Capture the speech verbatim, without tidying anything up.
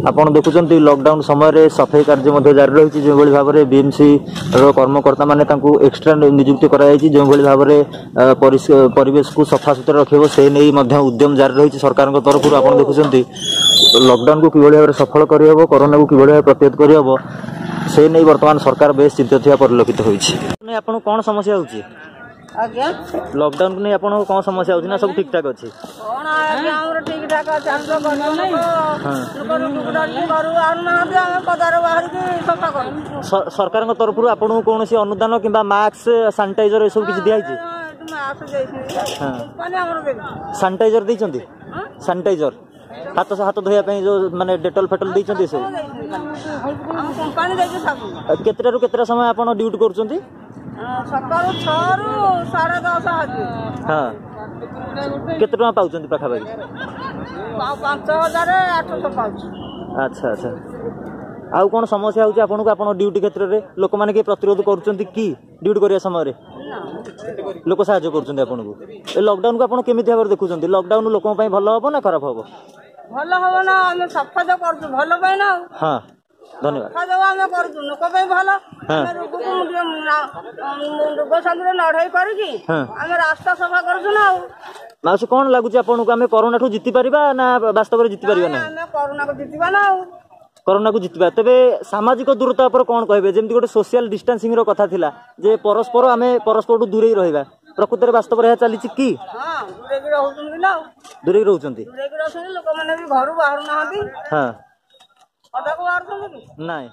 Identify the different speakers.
Speaker 1: ଆପଣ ଦେଖୁଛନ୍ତି, ଲକଡାଉନ ସମୟରେ ସଫେଇ କାର୍ଯ୍ୟ ମଧ୍ୟ ଜାରି ରହିଛି। ଯେଉଁଭଳି ଭାବରେ ବିଏମସି ର କର୍ମକର୍ତ୍ତା ମାନେ ତାଙ୍କୁ ଏକ୍ସଟ୍ରା ନିଯୁକ୍ତି କରାଯାଇଛି, ଯେଉଁଭଳି ଭାବରେ ପରିବେଶକୁ ସଫାସୁତୁରା ରଖିବ, ସେ ନେଇ ମଧ୍ୟ ଉଦ୍ୟମ ଜାରି ରହିଛି ସରକାରଙ୍କ ତରଫରୁ। ଆପଣ ଦେଖୁଛନ୍ତି, ଲକଡାଉନକୁ କିଭଳି ଭାବରେ ସଫଳ କରିହେବ, କରୋନାକୁ କିଭଳି ଭାବେ ପ୍ରତିହତ କରିହେବ, ସେ ନେଇ ବର୍ତ୍ତମାନ ସରକାର ବେଶ ଚିନ୍ତିତ ଥିବା ପରିଲକ୍ଷିତ ହୋଇଛି। ଆପଣଙ୍କୁ କ'ଣ ସମସ୍ୟା ହେଉଛି?
Speaker 2: ଆଜ୍ଞା,
Speaker 1: ଲକଡାଉନକୁ ନେଇ ଆପଣଙ୍କ କ'ଣ ସମସ୍ୟା ହେଉଛି ନା ସବୁ ଠିକ ଠାକ ଅଛି?
Speaker 2: କ'ଣ ଆଜ୍ଞା, ଆମର ଠିକ ଠାକ ଅଛି। ଆମେ ତ ଗରିବ ଲୋକ, ଲୋକ ରୋଗକୁ ଡରିକି ଘରୁ ବାହାରୁନାହାନ୍ତି, ଆମେ ପଦାରେ ବାହାରିକି ସଫା କରୁ।
Speaker 1: ସରକାରଙ୍କ ତରଫରୁ ଆପଣଙ୍କୁ କୌଣସି ଅନୁଦାନ କିମ୍ବା ମାସ୍କ, ସାନିଟାଇଜର ଏସବୁ କିଛି ଦିଆହେଇଛି?
Speaker 2: ମାସ୍କ ଦେଇଛନ୍ତି, କମ୍ପାନୀ ଆମର ଦେଇଛି।
Speaker 1: ସାନିଟାଇଜର ଦେଇଛନ୍ତି? ସାନିଟାଇଜର, ହାତ ହାତ ଧୋଇବା ପାଇଁ ଯୋଉ ମାନେ ଡେଟଲ ଫେଟଲ ଦେଇଛନ୍ତି ଏସବୁ?
Speaker 2: ଆମ କମ୍ପାନୀ ଦେଇଛି ସାବୁନ।
Speaker 1: କେତେଟାରୁ କେତେଟା ସମୟ ଆପଣ ଡ୍ୟୁଟି କରୁଛନ୍ତି?
Speaker 2: ସକାଳୁ ଛଅରୁ ସାଢେ ଦଶ ହାଜି।
Speaker 1: ହଁ, କେତେ ଟଙ୍କା ପାଉଛନ୍ତି ପାଖାପାଖି?
Speaker 2: ପାଞ୍ଚ ହଜାର ଆଠଶହ ପାଉଛୁ।
Speaker 1: ଆଚ୍ଛା ଆଚ୍ଛା, ଆଉ କ'ଣ ସମସ୍ୟା ହେଉଛି ଆପଣଙ୍କୁ ଆପଣ ଡ୍ୟୁଟି କ୍ଷେତ୍ରରେ? ଲୋକମାନେ କିଏ ପ୍ରତିରୋଧ କରୁଛନ୍ତି କି ଡ୍ୟୁଟି କରିବା ସମୟରେ? ଲୋକ ସାହାଯ୍ୟ କରୁଛନ୍ତି ଆପଣଙ୍କୁ? ଏ ଲକଡାଉନକୁ ଆପଣ କେମିତି ଭାବରେ ଦେଖୁଛନ୍ତି? ଲକଡାଉନ ଲୋକଙ୍କ ପାଇଁ ଭଲ ହବ ନା ଖରାପ ହବ?
Speaker 2: ଭଲ ହବ ନା, ଆମେ ସଫା ତ କରୁଛୁ ଭଲ ପାଇଁ ନା ଆଉ।
Speaker 1: ହଁ, ଧନ୍ୟବାଦ।
Speaker 2: ସଫା ଯୋଉ ଆମେ କରୁଛୁ ଲୋକ ପାଇଁ ଭଲ। ଆମେ ରୋଗକୁ ରୋଗ ସାଙ୍ଗରେ ଲଢେଇ କରିକି ଆମେ ରାସ୍ତା ସଫା କରୁଛୁ ନା ଆଉ।
Speaker 1: ମାଉସୀ, କ'ଣ ଲାଗୁଛି ଆପଣଙ୍କୁ, ଆମେ କରୋନାଠୁ ଜିତି ପାରିବା ନା ବାସ୍ତବରେ ଜିତି ପାରିବା ନାହିଁ?
Speaker 2: ଆମେ କରୋନାକୁ ଜିତିବା ନା ଆଉ।
Speaker 1: କରୋନାକୁ ଜିତିବା। ତେବେ ସାମାଜିକ ଦୂରତା ଉପରେ କ'ଣ କହିବେ? ଯେମିତି ଗୋଟେ ସୋସିଆଲ ଡିଷ୍ଟାନ୍ସିଂ ର କଥା ଥିଲା ଯେ ପରସ୍ପର ଆମେ ପରସ୍ପରଠୁ ଦୂରେଇ ରହିବା, ପ୍ରକୃତରେ ବାସ୍ତବରେ ଏହା ଚାଲିଛି କି?
Speaker 2: ହଁ, ଦୂରେଇକି ରହୁଛନ୍ତି ନା ଆଉ।
Speaker 1: ଦୂରେଇ ରହୁଛନ୍ତି,
Speaker 2: ଦୂରେଇକି ରହୁଛନ୍ତି ଲୋକମାନେ ବି ଘରୁ ବାହାରୁ ନାହାନ୍ତି।
Speaker 1: ହଁ,
Speaker 2: ପଦାକୁ ବାହାରୁଛନ୍ତି କି?
Speaker 1: ନାଇଁ।